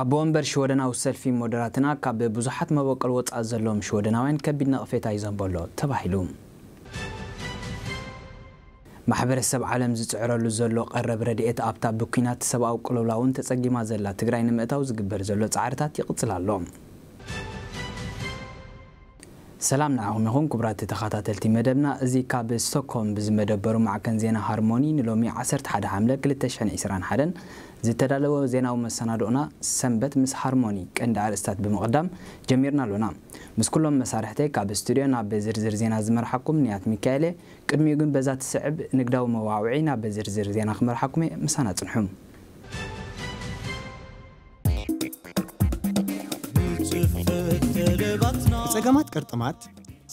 ኣቦ ወንበር ሽወደናዊ ሰልፊ ሞደራትና ካብ ብዙሓት መበቆል ወጻኢ ዘለዎም ሽወደናውያን ከቢድ ነቐፌታ ይዘንቦ ኣሎ ተባሂሉ። ማሕበረሰብ ዓለም ዝጽዕረሉ ዘሎ ቀረብ ረድኤት ኣብታ ብኲናት ሰብኣዊ ቅልውላውን ተጸጊማ ዘላ ትግራይ ንምእታው ዝግበር ዘሎ ጻዕርታት ይቕጽል ኣሎ። ሰላም ንዓኹም ይኹን ክቡራት ተኸታተልቲ መደብና። እዚ ካብ ስቶክሆልም ብዝመደበሩ ማዕከን ዜና ሃርሞኒ ንሎሚ ዓሰርተ ሓደ ሓምለ ክልተ ሽሕን ዕስራን ሓደን ዝተዳለወ ዜናዊ መሰናድኦና ሰንበት ምስ ሃርሞኒ ቀንዲ ኣርእስታት ብምቕዳም ጀሚርና ኣሎና። ምስ ኩሎም መሳርሕተይ ካብ ስቱድዮ ናብ ዝርዝር ዜና ዝመርሓኩም ንያት ሚካኤል እየ። ቅድሚኡ ግን በዛ ትስዕብ ንግዳዊ መዋዕውዒ ናብ ዝርዝር ዜና ክመርሓኩም እየ። ምሳና ጽንሑ። ብጸገማት ቅርጥማት፣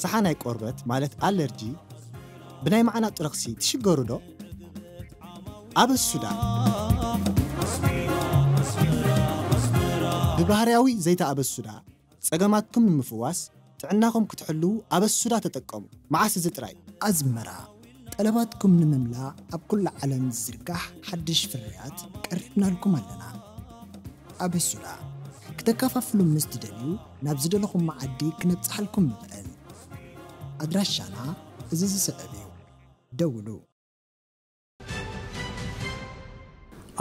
ሰሓናይ ቆርበት ማለት ኣለርጂ፣ ብናይ መዓናጡ ረኽሲ ትሽገሩ ዶ? ኣበሱዳ። ብባህርያዊ ዘይተ ኣበሱዳ ጸገማትኩም ንምፍዋስ፣ ጥዕናኹም ክትሕልዉ ኣበሱዳ ተጠቀሙ። መዓስ እዚ ጥራይ? ኣዝመራ፣ ጠለባትኩም ንምምላእ ኣብ ኩሉ ዓለም ዝዝርጋሕ ሓድሽ ፍርያት ቀሪብናልኩም ኣለና። ኣበሱዳ፣ ክተከፋፍሉ ምስ ትደልዩ ናብ ዝደለኹም መዓዲ ክነብጽሓልኩም ንኽእል። ኣድራሻና እዚ ዝስዕብ እዩ። ደውሉ።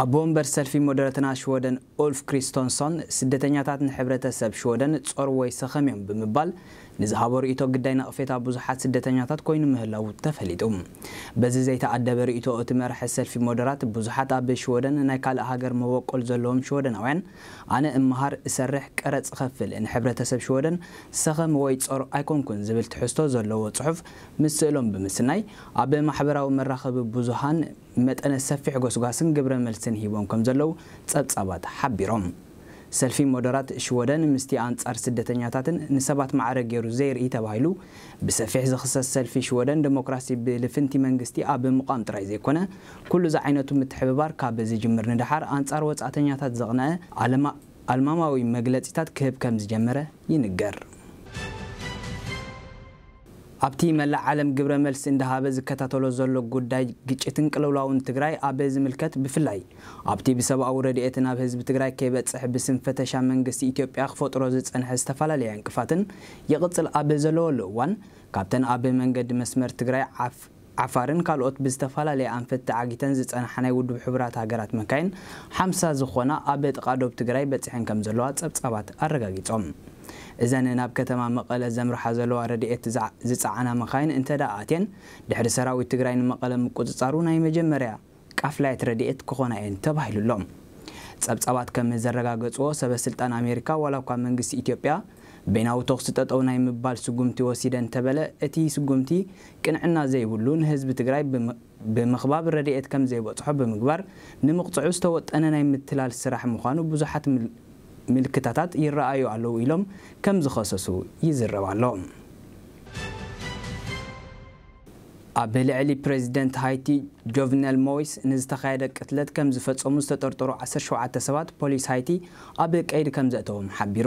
ኣቦ ወንበር ሰልፊ ሞደረትና ሽወደን ኡልፍ ክሪስቶንሶን ስደተኛታት ንሕብረተሰብ ሽወደን ጾር ወይ ሰኸም እዮም ብምባል ንዝሃቦ ርእይቶ ግዳይ ነቕፌታ ብዙሓት ስደተኛታት ኮይኑ ምህላዉ ተፈሊጡ። በዚ ዘይተኣደበ ርእይቶ እቲ መራሒ ሰልፊ ሞደራት ብዙሓት ኣብ ሽወደን ናይ ካልእ ሃገር መበቆል ዘለዎም ሽወደናውያን ኣነ እመሃር፣ እሰርሕ፣ ቀረጽ እኸፍል፣ ንሕብረተሰብ ሽወደን ሰኸም ወይ ጾር ኣይኮንኩን ዝብል ትሕዝቶ ዘለዎ ጽሑፍ ምስ ስእሎም ብምስናይ ኣብ ማሕበራዊ መራኸቢ ብዙሃን መጠነ ሰፊሕ ጎስጓስን ግብረ መልስን ሂቦም ከም ዘለዉ ጸብጻባት ሓቢሮም። ሰልፊ ሞደራት ሽወደን ምስቲ ኣንጻር ስደተኛታትን ንሰባት ማዕረ ገይሩ ዘይርኢ ተባሂሉ ብሰፊሕ ዝኽሰስ ሰልፊ ሽወደን ደሞክራሲ ብልፍንቲ መንግስቲ ኣብ ምቋም ጥራይ ዘይኮነ ኩሉ ዝዓይነቱ ምትሕብባር ካብ ዝጅምር ንደሓር ኣንጻር ወጻእተኛታት ዘቕነዐ ኣለማ ኣልማማዊ መግለጺታት ክህብ ከም ዝጀመረ ይንገር። ኣብቲ መላእ ዓለም ግብረ መልሲ እንዳሃበ ዝከታተሎ ዘሎ ጉዳይ ግጭትን ቅልውላውን ትግራይ ኣብ ዝምልከት ብፍላይ ኣብቲ ብሰብኣዊ ረድኤት ናብ ህዝቢ ትግራይ ከይበጽሕ ብስም ፈተሻ መንግስቲ ኢትዮጵያ ክፈጥሮ ዝጸንሐ ዝተፈላለየ ዕንቅፋትን ይቕጽል ኣብ ዘለወሉ እዋን ካብተን ኣብ መንገዲ መስመር ትግራይ ዓፍ ዓፋርን ካልኦት ብዝተፈላለየ ኣንፈት ተዓጊተን ዝጸንሓ ናይ ውድብ ሕቡራት ሃገራት መካይን ሓምሳ ዝኾና ኣብ ጥቓ ዶብ ትግራይ በጺሐን ከም ዘለዋ ጸብጻባት ኣረጋጊጾም። እዘን ናብ ከተማ መቐለ ዘምርሓ ዘለዋ ረድኤት ዝዓ- ዝጸዓና መካይን እንተ ደኣ ኣትየን ድሕሪ ሰራዊት ትግራይ ንመቐለ ምቁጽጻሩ ናይ መጀመርያ ቃፍላየት ረድኤት ክኾና እየን ተባሂሉሎም። ጸብጻባት ከም ዘረጋገጽዎ ሰበ ስልጣን ኣሜሪካ ዋላ እኳ መንግስቲ ኢትዮጵያ በይናዊ ተኹሲ ጠጠው ናይ ምባል ስጉምቲ ወሲደ እንተበለ እቲ ስጉምቲ ቅንዕና ዘይብሉ ንህዝቢ ትግራይ ብም- ብምኽባብ ረድኤት ከም ዘይበጽሖ ብምግባር ንምቕፅዑ ዝተወጠነ ናይ ምትላል ስራሕ ምዃኑ ብዙሓት ምል- ምልክታታት ይረኣዩ ኣለዉ ኢሎም ከም ዝኸሰሱ ይዝረብ ኣሎ። ኣብ ልዕሊ ፕሬዚደንት ሃይቲ ጆቭነል ሞይስ ንዝተኻየደ ቅትለት ከም ዝፈጸሙ ዝተጠርጠሩ ዓሰርተ ሸውዓተ ሰባት ፖሊስ ሃይቲ ኣብ ቀይዲ ከም ዘእተዎም ሓቢሩ።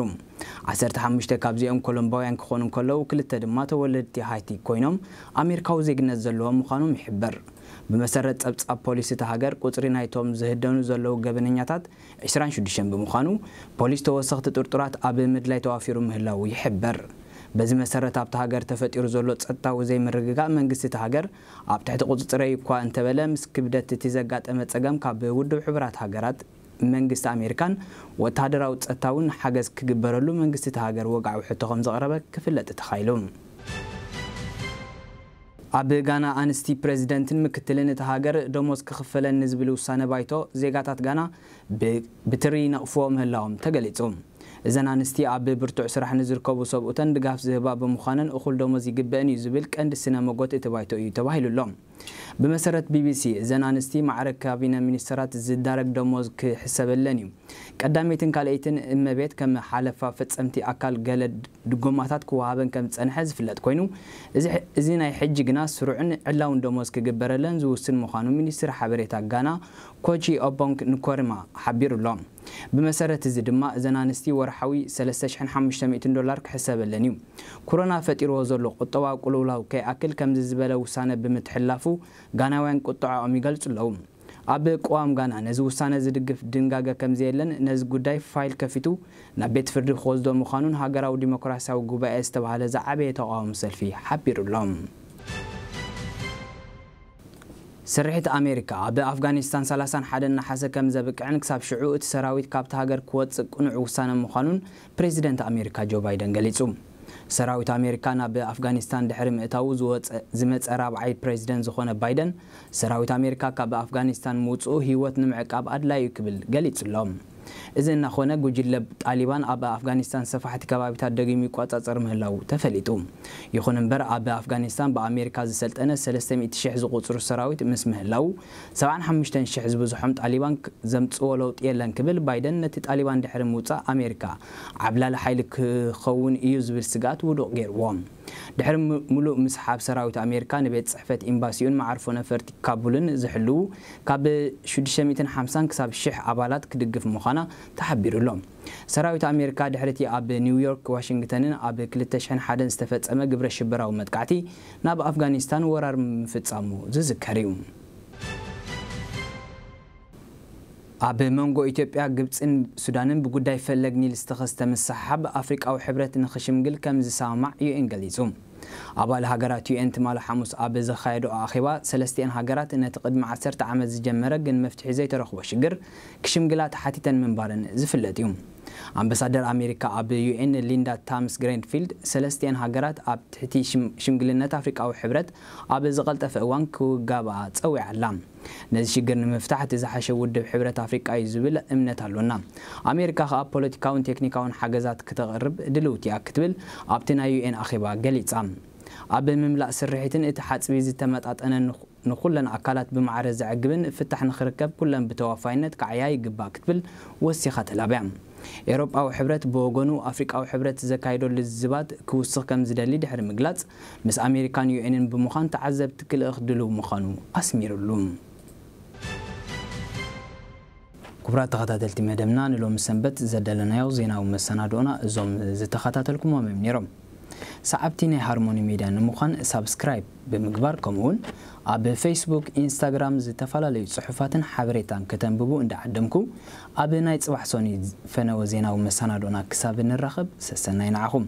ዓሰርተ ሓሙሽተ ካብዚኦም ኮሎምባውያን ክኾኑ እንከለዉ ክልተ ድማ ተወለድቲ ሃይቲ ኮይኖም ኣሜሪካዊ ዜግነት ዘለዎም ምዃኖም ይሕበር። ብመሰረት ጸብጻብ ፖሊስ እታ ሃገር ቁጽሪ ናይቶም ዝህደኑ ዘለዉ ገበነኛታት ዕስራን ሽዱሽተን ብምዃኑ ፖሊስ ተወሰኽቲ ጥርጡራት ኣብ ምድላይ ተዋፊሩ ምህላዉ ይሕበር። በዚ መሰረት ኣብታ ሃገር ተፈጢሩ ዘሎ ጸጥታዊ ዘይምርግጋእ መንግስቲ እታ ሃገር ኣብ ትሕቲ ቁጽጽረይ እኳ እንተበለ ምስ ክብደት እቲ ዘጋጠመ ጸገም ካብ ውድብ ሕቡራት ሃገራት መንግስቲ ኣሜሪካን ወተሃደራዊ ጸጥታውን ሓገዝ ክግበረሉ መንግስቲ እታ ሃገር ወግዓዊ ሕቶ ከም ዘቕረበ ክፍለጥ ተኻኢሉ። ኣብ ጋና ኣንስቲ ፕሬዚደንትን ምክትልን እታ ሃገር ደሞዝ ክኽፈለን ንዝብል ውሳነ ባይቶ ዜጋታት ጋና ብ- ብትሪ ይነቕፍዎ ምህላዎም ተገሊጹ። እዘን ኣንስቲ ኣብ ብርቱዕ ስራሕ ንዝርከቡ ሰብኡተን ድጋፍ ዝህባ ብምዃነን እኹል ደሞዝ ይግበእን እዩ ዝብል ቀንዲ ስነ መጎት እቲ ባይቶ እዩ ተባሂሉ ኣሎ። ብመሰረት ቢቢሲ እዘን ኣንስቲ ማዕረ ካቢነ ሚኒስተራት ዝዳረግ ደሞዝ ክሕሰበለን እዩ። ቀዳመይትን ካልኣይትን እመቤት ከም ሓለፋ ፈጸምቲ ኣካል ገለ ድጎማታት ክወሃበን ከም ዝጸንሐ ዝፍለጥ ኮይኑ እዚ ሕ- እዚ ናይ ሕጂ ግና ስሩዕን ዕላውን ደሞዝ ክግበረለን ዝውስን ምዃኑ ሚኒስትሪ ሓበሬታ ጋና ኮቺ ኦቦንግ ንኮርማ ሓቢሩ ኣሎ። ብመሰረት እዚ ድማ እዘን ኣንስቲ ወርሓዊ ሰለስተ ሽሕን ሓሙሽተ ሚእትን ዶላር ክሕሰበለን እዩ። ኮሮና ፈጢርዎ ዘሎ ቁጠባዊ ቅልውላው ከይኣክል ከምዚ ዝበለ ውሳነ ብምትሕልላፉ ጋናውያን ቁጥዐኦም ይገልጹ ኣለዉ። ኣብ ቅዋም ጋና ነዚ ውሳነ ዝድግፍ ድንጋገ ከም ዘየለን ነዚ ጉዳይ ፋይል ከፊቱ ናብ ቤት ፍርዲ ክወስዶ ምዃኑን ሃገራዊ ዲሞክራሲያዊ ጉባኤ ዝተባህለ ዝዓበየ ተቓውሞ ሰልፊ ሓቢሩ ኣሎ። ስርሒት ኣሜሪካ ኣብ ኣፍጋኒስታን ሰላሳን ሓደን ነሓሰ ከም ዘብቅዕን ክሳብ ሽዑ እቲ ሰራዊት ካብቲ ሃገር ክወጽእ ቅኑዕ ውሳነ ምዃኑን ፕሬዚደንት ኣሜሪካ ጆ ባይደን ገሊጹ። ሰራዊት ኣሜሪካ ናብ ኣፍጋኒስታን ድሕሪ ምእታዉ ዝወጸ-፣ ዝመጸ ራብዓይ ፕሬዚደንት ዝኾነ ባይደን፣ ሰራዊት ኣሜሪካ ካብ ኣፍጋኒስታን ምውጽኡ ህይወት ንምዕቃብ ኣድላዩ ክብል ገሊጹ ኣሎ። እዚ እናኾነ፣ ጉጅለ ጣሊባን ኣብ ኣፍጋኒስታን ሰፋሕቲ ከባቢታት ደጊሙ ይቆጻጸር ምህላዉ ተፈሊጡ። ይኹን እምበር፣ ኣብ ኣፍጋኒስታን ብኣሜሪካ ዝሰልጠነ ሰለስተ ሚእቲ ሽሕ ዝቑጽሩ ሰራዊት ምስ ምህላዉ፣ ሰብዓን ሓሙሽተን ሽሕ ዝበዝሖም ጣሊባን ክ-፣ ዘምጽዎ ለውጢ የለን ክብል ባይደን፣ ነቲ ጣሊባን ድሕሪ ምውጻእ ኣሜሪካ ዓብላሊ ሓይሊ ክኸውን እዩ ዝብል ስግኣት ውዱቕ ገይርዎ። ድሕሪ ሙ-፣ ሙሉእ ምስሓብ ሰራዊት ኣሜሪካ ንቤት ጽሕፈት ኤምባሲኡን መዓርፎ ነፈርቲ ካቡልን ዝሕልዉ ካብ ሽዱሽተ ሚእትን ሓምሳን ክሳብ ሽሕ ኣባላት ክድግፍ ምዃና ተሓቢሩ ኣሎ። ሰራዊት ኣሜሪካ ድሕሪቲ ኣብ ኒውዮርክ፣ ዋሽንግተንን ኣብ ክልተ ሽሕን ሓደን ዝተፈጸመ ግብረ ሽበራዊ መጥቃዕቲ ናብ ኣፍጋኒስታን ወራር ምፍጻሙ ዝዝከር እዩ። ኣብ መንጎ ኢትዮጵያ፣ ግብጽን ሱዳንን ብጉዳይ ፈለግ ኒል ዝተኸስተ ምስሕሓብ ኣፍሪቃዊ ሕብረት ንኽሽምግል ከም ዝሰማማዕ ዩ ኤን ገሊጹ። ኣባል ሃገራት ዩ ኤን ትማሊ ሓሙስ ኣብ ዘኻየዶ ኣኼባ፣ ሰለስቲኤን ሃገራት ነቲ ቅድሚ ዓሰርተ ዓመት ዝጀመረ ግን መፍትሒ ዘይተረኽቦ ሽግር ክሽምግላ ተሓቲተን ምንባረን ዝፍለጥ እዩ። ኣምባሳደር ኣሜሪካ ኣብ ዩ ኤን ሊንዳ ታምስ ግሬንፊልድ፣ ሰለስቲኤን ሃገራት ኣብ ትሕቲ ሽም-፣ ሽምግልነት ኣፍሪቃዊ ሕብረት ኣብ ዝቐልጠፈ እዋን ክውጋብኣ ጸዊዓ ኣላ። ነዚ ሽግር ንምፍታሕ እቲ ዝሓሸ ውድብ ሕብረት ኣፍሪቃ እዩ ዝብል እምነት ኣሎና። ኣሜሪካ ከኣ ፖለቲካውን ቴክኒካውን ሓገዛት ክተቕርብ ድልውቲ እያ ክትብል ኣብቲ ናይ ዩ ኤን ኣኼባ ገሊጻ። ኣብ ምምላእ ስርሒትን እቲ ሓጽቢ ዝተመጣጠነ ንኹ-፣ ንኹለን ኣካላት ብማዕረ ዘዕግብን ፍታሕ ንኽርከብ ኩለን ብተዋፋይነት ክዓያ ይግባእ ክትብል ወሲኻ ተላብያ። ኤውሮጳዊ ሕብረት ብወገኑ ኣፍሪቃዊ ሕብረት ዘካይዶ ልዝባት ክውስኽ ከም ዝደሊ ድሕሪ ምግላጽ፣ ምስ ኣሜሪካን ዩ ኤንን ብምዃን ተዓዘብቲ ክልእኽ ድሉው ምዃኑ ኣስሚሩሉ። ክቡራት ተኸታተልቲ መደብና፣ ንሎሚ ሰንበት ዘዳለናዮ ዜናዊ መሰናድኦና እዞም ዝተኸታተልኩሞም እዮም ነይሮም። ሰዓብቲ ናይ ሃርሞኒ ሜድያ ንምዃን ሳብስክራይብ ብምግባር፣ ከምኡውን ኣብ ፌስቡክ፣ ኢንስታግራም ዝተፈላለዩ ጽሑፋትን ሓበሬታን ከተንብቡ እንዳዓደምኩ፣ ኣብ ናይ ጽባሕ ሶኒ ፈነወ ዜናዊ መሰናድኦና ክሳብ ንራኸብ፣ ሰሰናይ ንዓኹም።